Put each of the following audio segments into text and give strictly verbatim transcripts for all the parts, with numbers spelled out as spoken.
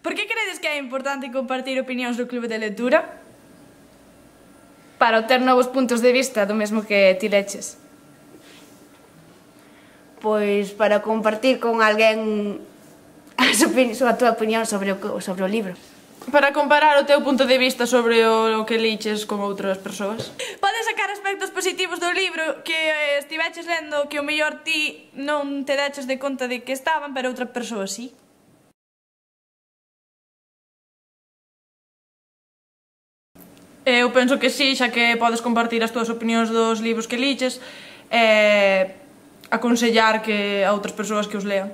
Por que credes que é importante compartir opinións do clube de lectura? Para obter novos puntos de vista do mesmo que ti leches. Pois para compartir con alguén a túa opinión sobre o, sobre o libro. Para comparar o teu punto de vista sobre o que liches con outras persoas. Podes sacar aspectos positivos do libro que estiveches lendo que o mellor ti non te deches de conta de que estaban, pero outra persoa sí. Eu penso que sí, xa que podes compartir as túas opinións dos libros que liches e aconsellar que a outras persoas que os lean.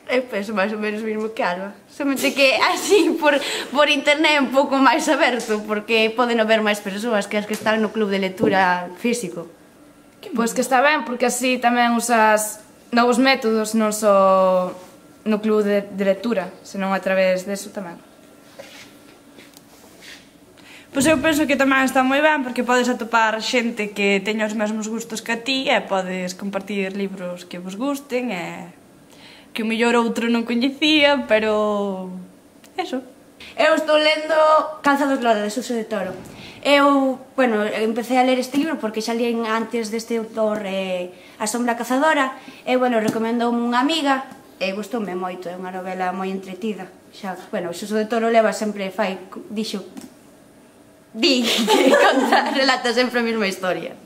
Eu penso máis ou menos o mesmo que Alba. Somente que así, por, por internet, un pouco máis aberto, porque poden haber máis persoas que as que están no club de lectura físico. Pois que está ben, porque así tamén usas novos métodos, non só no club de, de lectura, senón a través deso tamén. Pois eu penso que tamén está moi ben, porque podes atopar xente que teña os mesmos gustos que a ti e podes compartir libros que vos gusten e que o mellor outro non coñecía, pero... eso. Eu estou lendo Calzados Lola, de Suso de Toro. Eu, bueno, empecé a ler este libro porque xa líen antes deste autor eh, A sombra cazadora e, bueno, recomendou unha amiga e gustoume moito, é unha novela moi entretida. Xa, bueno, Suso de Toro leva sempre, fai, dixo, di que conta, relata sempre a mesma historia.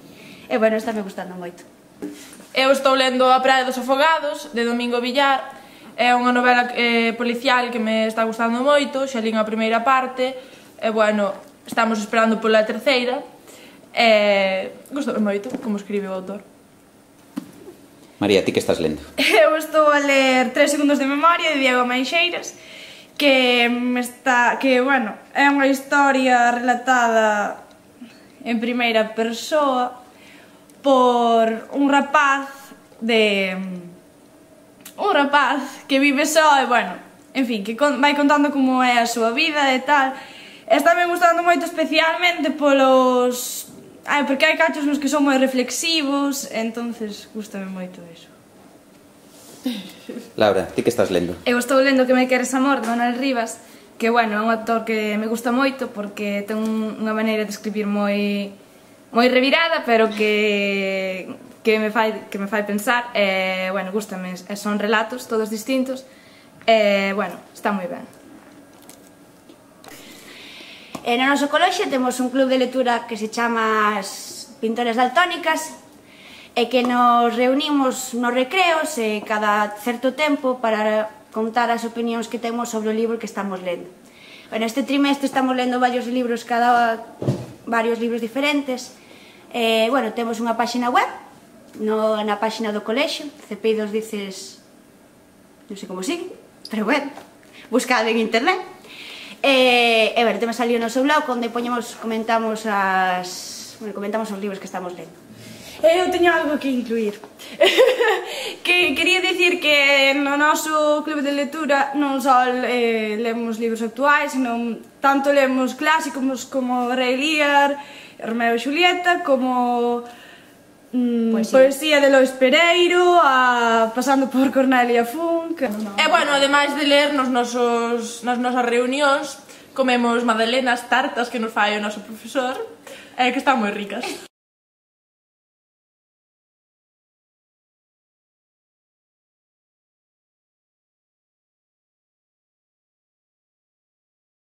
E, bueno, está me gustando moito. Eu estou lendo A praia dos afogados, de Domingo Villar. É unha novela eh, policial que me está gustando moito, xa lín a primeira parte. E, bueno, estamos esperando pola terceira. E gustoume moito como escribe o autor. María, ti que estás lendo? Eu estou a ler Tres segundos de memoria, de Diego Meixeiras, que me está, que, bueno, é unha historia relatada en primeira persoa por un rapaz de... un rapaz que vive só e, bueno, en fin, que vai contando como é a súa vida e tal. Estáme gustando moito especialmente polos... Ai, porque hai cachos nos que son moi reflexivos, entonces gustame moito iso. Laura, ti que estás lendo? Eu estou lendo Que me queres amor, de Manuel Rivas, que, bueno, é un autor que me gusta moito porque ten unha maneira de escribir moi moi revirada, pero que que me fai que me fai pensar e, bueno, gústame, son relatos todos distintos e, bueno, está moi ben. E no noso colexio temos un club de lectura que se chama As Pintoras Daltónicas e que nos reunimos nos recreos e cada certo tempo para contar as opinións que temos sobre o libro que estamos lendo. Bueno, este trimestre estamos lendo varios libros, cada varios libros diferentes. Eh, bueno, temos unha páxina web no, na páxina do colexio, Cepeidos Dices, non sei como sigue, pero bueno, buscade en internet. E, e bueno, temos ali o noso blog onde poñemos, comentamos as, bueno, comentamos os libros que estamos lendo. Eu teño algo que incluir. Que quería dicir que no noso club de lectura non só eh, lemos libros actuais, senón tanto lemos clásicos como Rei Lear, Romeo e Xulieta, como mm, poesía. poesía de Lois Pereiro, a, pasando por Cornelia Funk. No. E, bueno, ademais de ler nos nosos, nas nosas reunións, comemos magdalenas, tartas que nos fai o noso profesor, eh, que están moi ricas.